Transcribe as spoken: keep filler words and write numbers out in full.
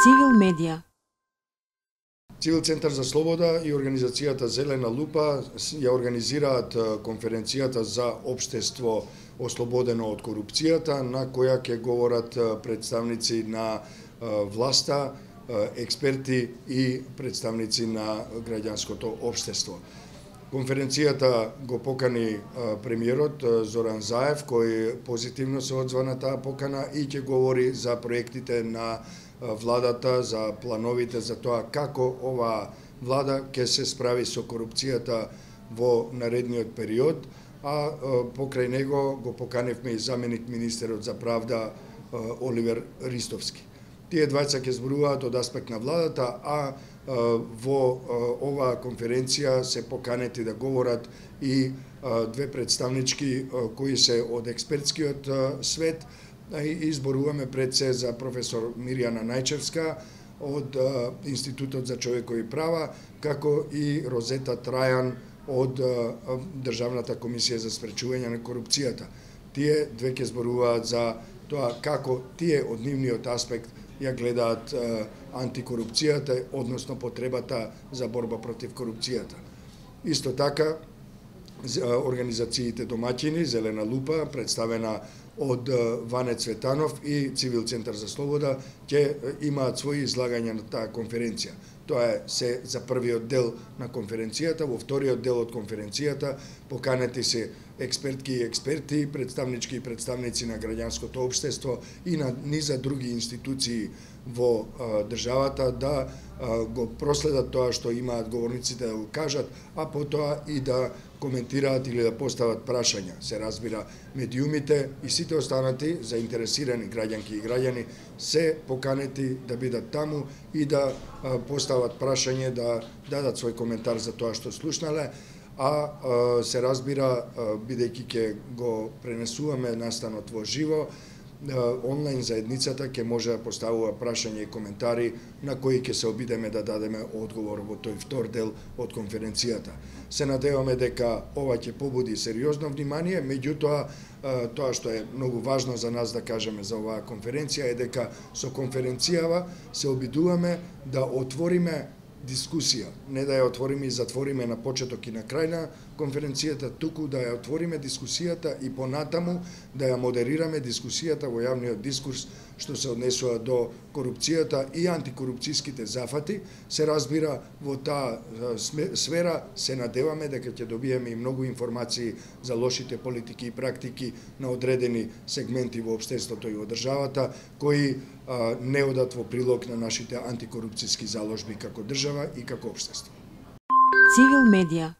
Цивил медија. Цивил Центар за слобода и организацијата Зелена лупа ја организираат конференцијата за општество ослободено од корупцијата, на која ќе говорат представници на власта, експерти и представници на граѓанското општество. Конференцијата го покани премиерот Зоран Заев, кој позитивно се одзва на таа покана и ќе говори за проектите на владата, за плановите за тоа како оваа влада ќе се справи со корупцијата во наредниот период, а покрај него го поканевме и заменик министерот за правда Оливер Ристовски. Тие двајца ќе зборуваат од аспект на владата, а во оваа конференција се поканети да говорат и две представнички кои се од експертскиот свет, и изборуваме пред се за професор Мирјана Најчевска од Институтот за човекови права, како и Розета Трајан од Државната комисија за спречување на корупцијата. Тие две ќе зборуваат за тоа како тие од нивниот аспект ја гледаат антикорупцијата, односно потребата за борба против корупцијата. Исто така, организациите домаќини, Зелена лупа, представена од Ване Цветанов и Цивил Центар за слобода, ќе имаат своји излагања на таа конференција. Тоа е се за првиот дел на конференцијата. Во вториот дел од конференцијата поканети се експертки и експерти, представнички и представници на граѓанското општество и на низа други институции во државата да го проследат тоа што имаат говорниците да го кажат, а потоа и да коментираат или да постават прашања. Се разбира, медиумите и сите останати заинтересирани граѓанки и граѓани се поканети да бидат таму и да постават прашање, да дадат свој коментар за тоа што слушнале, а се разбира, бидејќи ќе го пренесуваме настанот во живо, онлайн заедницата ќе може да поставува прашања и коментари на кои ќе се обидеме да дадеме одговор во тој втор дел од конференцијата. Се надеваме дека ова ќе побуди сериозно внимание, меѓутоа тоа што е многу важно за нас да кажеме за оваа конференција е дека со конференцијава се обидуваме да отвориме дискусија, не да ја отвориме и затвориме на почеток и на крај на конференцијата, туку да ја отвориме дискусијата и понатаму да ја модерираме дискусијата во јавниот дискурс што се однесува до корупцијата и антикорупцијските зафати. Се разбира, во таа сфера се надеваме дека ќе добиеме и многу информации за лошите политики и практики на одредени сегменти во општеството и во државата, кои не одат во прилог на нашите антикорупцијски заложби како држава и како општество. Цивил медија.